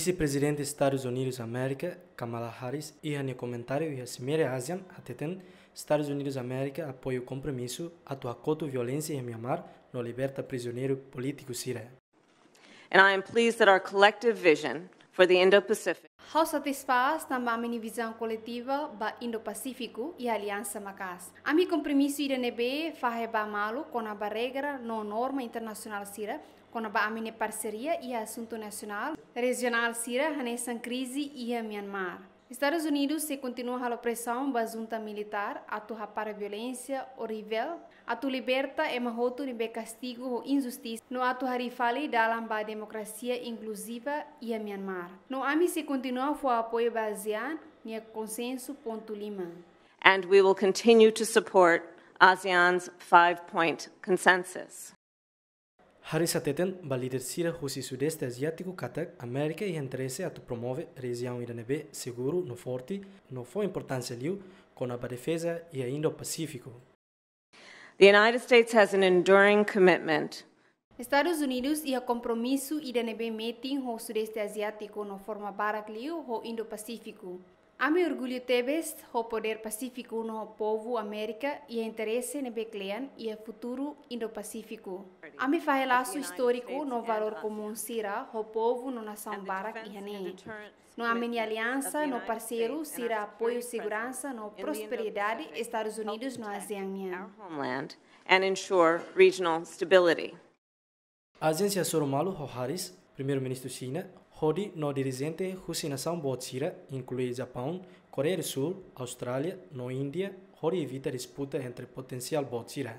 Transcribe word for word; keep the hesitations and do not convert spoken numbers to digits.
Vise-Prezidente Estadus Unidus Amérika, Kamala Harris, iha nia komentáriu iha Simeira ASEAN hateten, Estadus Unidus Amérika apoia kompromisu atu hakotu violénsia iha Myanmar no liberta prizioneiru polítiku sira. And I am pleased that our collective vision for the Indo-Pacific Ha'u satisfás tanba ami-nia vizaun koletiva ba Indo-Pasífiku iha aliansa maka'as. Ami kompromisu ida ne'ebé fahe ba malu kona-ba regra no norma internasionál sira, kona-ba ami-nia parseria iha asuntu nasionál, rejionál sira hanesan krize iha Myanmar. Estadus Unidus sei kontinua halo presaun ba junta militár atu hapara violénsia orivél, atu liberta ema hotu ne'ebé kastigu ho injustisa, no atu harii fali dalan ba demokrasia inkluziva iha Myanmar. No ami sei kontinua fó apoiu ba ASEAN nia konsensu pontu lima. And we will continue to support ASEAN's five-point consensus. Harris hateten ba líder sira husi Sudeste Aziátiku katak Amérika iha interese atu promove rejiaun ida ne'ebé seguru no forte, no fó importánsia liu kona-ba defeza iha Indo-Pasífiku. The United States has an enduring commitment Estadus Unidus iha kompromisu ida ne'ebé metin ho Sudeste Aziátiku no forma barak liu ho Indo-Pasífiku. Ami orgullu tebes ho podér pasífiku no ho povu Amérika iha interese ne'ebé kle'an iha futuru Indo-Pasífiku. Ami fahe lasu istóriku no valór komún sira ho povu no nasaun barak iha ne'e. No ami-nia aliansa no parseiru sira apoia seguransa no prosperidade Estadus Unidus no ASEAN nian. Homeland and ensure regional stability. ASEAN sei hasoru malu ho Harris, Primeiru-Ministru Xina, hodi no dirijente husi nasaun boot sira, inklui Japaun, Koreia do Sul, Austrália, no Índia, hodi evita disputa entre potensiál boot sira.